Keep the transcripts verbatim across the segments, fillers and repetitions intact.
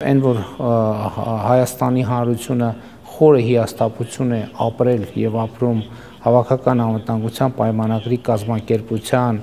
Այն որ Հայաստանի Հանրությունը խորը հիասթափություն է ապրել եւ ապրում հավաքական անվտանգության պայմանագրի կազմակերպության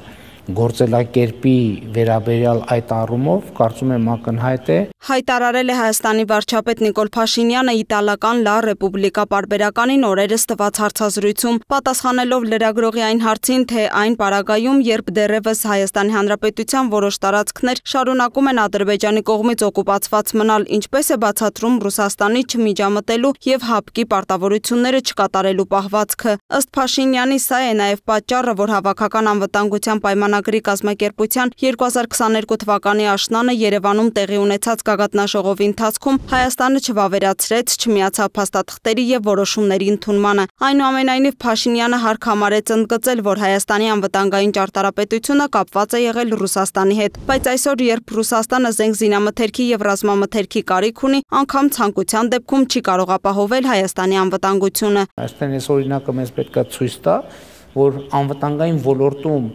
գործելակերպի վերաբերյալ այդ առումով կարծում եմ ակնհայտ է հայտարարել է Հայաստանի վարչապետ Նիկոլ Փաշինյանը իտալական Լա Ռեպուբլիկա պարբերականին օրերս տված հարցազրույցում, պատասխանելով լրագրողի այն հարցին, թե այն պարագայում, երբ դեռևս Հայաստանի Հանրապետության որոշ տարածքներ շարունակում են Ադրբեջանի կողմից օկուպացված մնալ, ինչպես է բացատրում Ռուսաստանի չմիջամտելու եւ ՀԱՊԿ-ի պարտավորությունները չկատարելու պահվածքը։ Ըստ Փաշինյանի, սա է նաեւ պատճառը, որ հավաքական անվտանգության պայմանագրի կազմակերպության երկու հազար քսաներկու թվականի աշնանը Երևանում տեղի ունեցած գագաթնաժողովի ընթացքում Հայաստանը չվավերացրեց, չմիացավ փաստաթղթերի եւ որոշումների ընդունմանը։ Այնուամենայնիվ Փաշինյանը հարկ համարեց ընդգծել, որ Հայաստանի անվտանգային ճարտարապետությունը կապված է եղել Ռուսաստանի հետ, բայց այսօր, երբ Ռուսաստանը զենք զինամթերքի եւ ռազմամթերքի կարիք ունի, անգամ ցանկության դեպքում չի կարող ապահովել Հայաստանի անվտանգությունը։ Այստեղ այս օրինակը մեզ պետք է ցույց տա, որ անվտանգային ոլորտում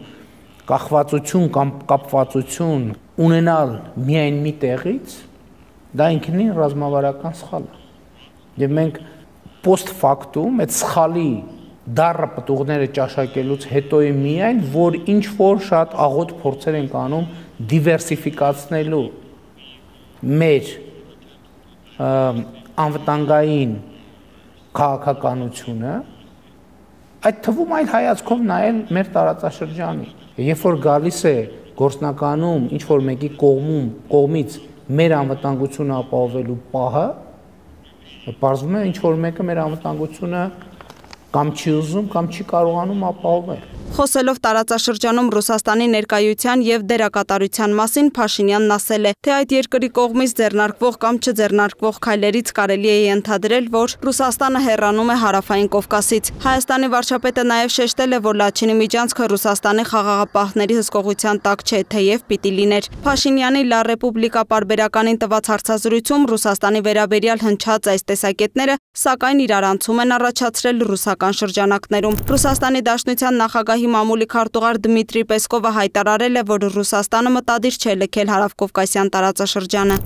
կախվածություն կամ կապվածություն ունենալ միայն մի տեղից, դա ինքնին ռազմավարական սխալ է։ Եվ մենք post factum այդ սխալի դառը պտուղները ճաշակելուց հետո է միայն, որ ինչ որ շատ աղոտ փորձեր ենք անում դիվերսիֆիկացնելու մեր անվտանգային քաղաքականությունը, այդ թվում այլ հայացքով նայել մեր տարածաշրջանի։ Երբ որ գալիս է գործնականում ինչ որ մեկի կողմում կողմից մեր անվտանգությունը ապահովելու պահը, պարզվում է ինչ որ մեկը մեր անվտանգությունը կամ չի ուզում կամ չի կարողանում ապահովել։ Խոսելով տարածաշրջանում Ռուսաստանի ներկայության եւ դերակատարության մասին, Փաշինյանն ասել է, թե այդ երկրի կողմից ձեռնարկվող կամ չձեռնարկվող քայլերից կարելի է ենթադրել, որ Ռուսաստանը հեռանում է հարավային Կովկասից։ Հայաստանի վարչապետը նաեւ շեշտել է, որ Լաչինի միջանցքը Ռուսաստանի խաղաղապահների հսկողության տակ չէ, թեև պիտի լիներ։ Փաշինյանի Լա Ռեպուբլիկա պարբերականին տված հարցազրույցում Ռուսաստանի վերաբերյալ հնչած այս տեսակետները, սակայն իրարանցում են առաջացրել ռուսական շրջանակներում։ Ռուսաստանի Դաշնության նախագահ Մամուլի քարտուղար Դմիտրի Պեսկովը հայտարարել է, որ Ռուսաստանը մտադիր չէ լքել հարավկովկասյան տարածաշրջանը։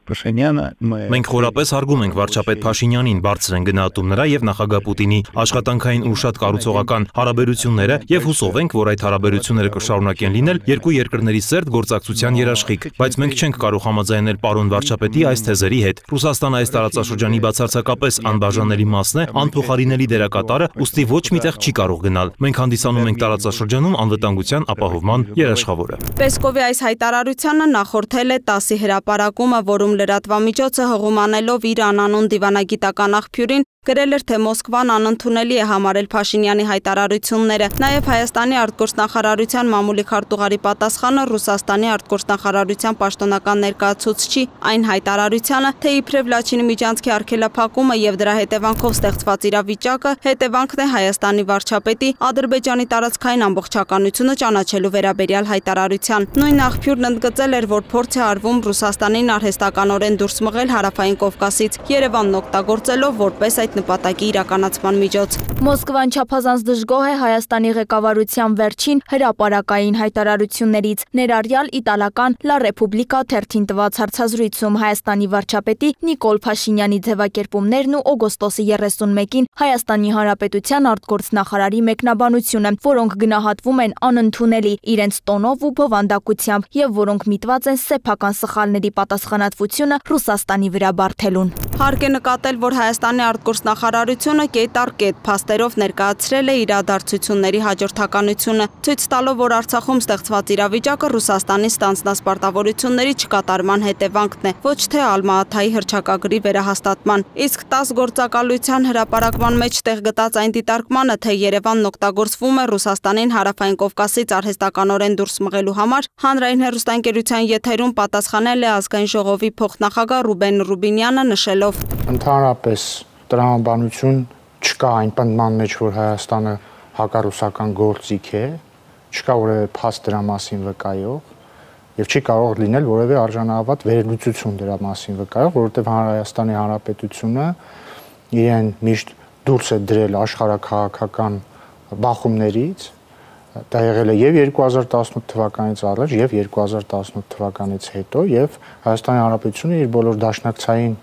Մենք խորապես հարգում ենք վարչապետ Փաշինյանին, բարձր են գնահատում նրա եւ նախագահ Պուտինի աշխատանքային ու շատ կառուցողական հարաբերությունները եւ հուսով ենք, որ այդ հարաբերությունները կշարունակեն լինել երկու երկրների սերտ գործակցության երաշխիք, բայց մենք չենք կարող համաձայնել պարոն վարչապետի այս թեզերի հետ։ Ռուսաստանը այս տարածաշրջանի բացարձակապես անբաժանելի մասն է, անփոխարինելի դերակատարը, ուստի ոչ միտեղ չի կարող գնալ։ Մենք հանդիսանում ենք տարածաշրջանում անվտանգության ապահովման երաշխավորը։ Պեսկովի այս հայտարարությանը նախորդել է տասի հրապարակումը, որում լրատվամիջոցը հղում անելով իր անանուն դիվանագիտական աղբյուրին գրել էր, թե Մոսկվան անընդունելի է համարել Փաշինյանի հայտարարությունները։ Նաև Հայաստանի արտգործնախարարության մամուլի քարտուղարի պատասխանը Ռուսաստանի արտգործնախարարության պաշտոնական ներկայացուցչի այն հայտարարությանը, թե իբրև Լաչինի միջանցքի արգելափակումը եւ դրա հետևանքով ստեղծված իրավիճակը հետևանքն է Հայաստանի վարչապետի Ադրբեջանի տարածքային ամբողջականությունը ճանաչելու վերաբերյալ հայտարարության։ Նույն աղբյուրն ընդգծել էր, որ փորձ է արվում Ռուսաստանին արհեստականորեն դուրս մղել հարավային Կովկասից, Երևանն օգտագործելով որպես այդ նպատակի իրականացման միջոց։ Մոսկվան չափազանց դժգոհ է Հայաստանի ղեկավարության վերջին հրապարակային հայտարարություններից, ներառյալ իտալական Լա Ռեպուբլիկա թերթին տված հարցազրույցում Հայաստանի վարչապետի Նիկոլ Փաշինյանի ձևակերպումներն ու օգոստոսի երեսունմեկին Հայաստանի Հանրապետության արտգործնախարարի մեկնաբանությունը, որոնք գնահատվում են անընդունելի իրենց տոնով ու բովանդակությամբ եւ որոնք միտված են սեփական սխալների պատասխանատվությունը Ռուսաստանի վրա բարթելուն։ Հարկ է նկատել, որ Հայաստանի արտգործնախարարությունը կետ առ կետ փաստերով ներկայացրել է իրադարձությունների հաջորդականությունը, ցույց տալով, որ Արցախում ստեղծված իրավիճակը Ռուսաստանի ստանձնած պարտավորությունների չկատարման հետևանքն է, ոչ թե Ալմա-Աթայի հռչակագրի վերահաստատման։ Իսկ տաս գործակալության հրապարակման մեջ տեղ գտած այն դիտարկմանը, թե Երևանն օգտագործվում է Ռուսաստանին հարավային Կովկասից արհեստականորեն դուրս մղելու համար, հանրային հեռուստաընկերության եթերում պատասխանել է ազգային ժողովի փոխնախագահ Ռուբեն Ռուբինյանը, նշելով. Ընդհանրապես տրամաբանություն չկա այն պնդման մեջ, որ Հայաստանը հակառուսական գործիք է, չկա որևէ փաստ դրա մասին վկայող եւ չի կարող լինել որևէ արժանահավատ վերլուծություն դրա մասին վկայող, որովհետեւ Հայաստանի Հանրապետությունը իրեն միշտ դուրս է դրել աշխարհաքաղաքական բախումներից Դա եղել է եւ երկու հազար տասնութ թվականից առաջ եւ երկու հազար տասնութ թվականից հետո եւ Հայաստանի Հանրապետությունը իր բոլոր դաշնակցային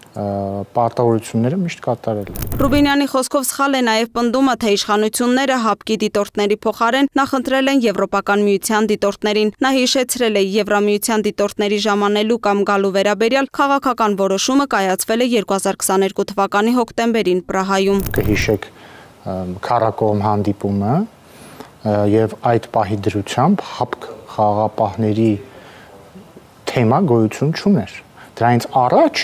պարտավորությունները միշտ կատարել է։ Ռուբինյանի խոսքով սխալ է նաև պնդումը, թե իշխանությունները հապկի դիտորդների փոխարեն նախընտրել են Եվրոպական միության դիտորդներին։ Նա հիշեցրել է Եվրամիության դիտորդների ժամանելու կամ գալու վերաբերյալ քաղաքական որոշումը կայացվել է երկու հազար քսաներկու թվականի հոկտեմբերին Պրահայում։ Կհիշեք քառակողմ հանդիպումը եւ այդ պահի դրությամբ հապկ խաղաղապահների թեմա գոյություն չուներ։ Դրանից առաջ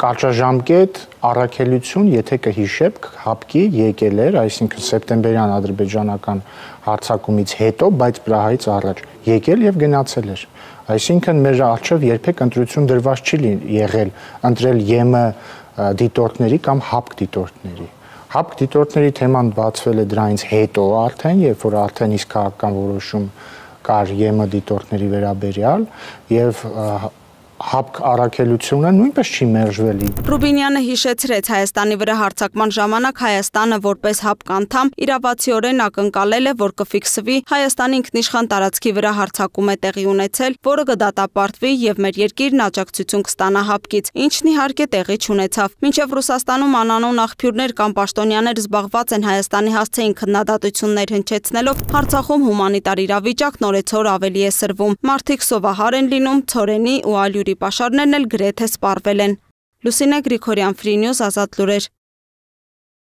կարճաժամկետ առաքելություն, եթե կհիշեք, հապկի եկել էր, այսինքն սեպտեմբերյան ադրբեջանական հարձակումից հետո, բայց Պրահայից առաջ եկել եւ գնացել էր։ Այսինքն մեր առջև երբեք ընտրություն դրված չի եղել ընտրել ԵՄ դիտորդների կամ հապկ դիտորդների։ Հապկ դիտորդների թեման բացվել է դրանից հետո արդեն, երբ որ արդեն իսկ քաղաքական որոշում կար ԵՄ դիտորդների վերաբերյալ եւ հապկ առաքելությունը նույնպես չի մերժվել։ Ռուբինյանը հիշեցրեց Հայաստանի վրա հարձակման ժամանակ Հայաստանը որպես հապկ անդամ իրավացիորեն ակնկալել է, որ կֆիքսվի Հայաստանի ինքնիշխան տարածքի վրա հարձակում է տեղի ունեցել, որը կդատապարտվի եւ մեր երկիրն աջակցություն կստանա հապկից, ինչն իհարկե տեղի չունեցավ։ Մինչև Ռուսաստանում անանուն աղբյուրներ կամ պաշտոնյաներ զբաղված են Հայաստանի հասցեին քննադատություններ հնչեցնելով, Արցախում հումանիտար իրավիճակն օրեցօր ավելի է սրվում։ Մարդիկ սովահար են լինում, ցորենի ու ալյուրի պաշարներն էլ գրեթե սպառվել են։ Լուսինե Գրիգորյան, Free News, Ազատ լուրեր։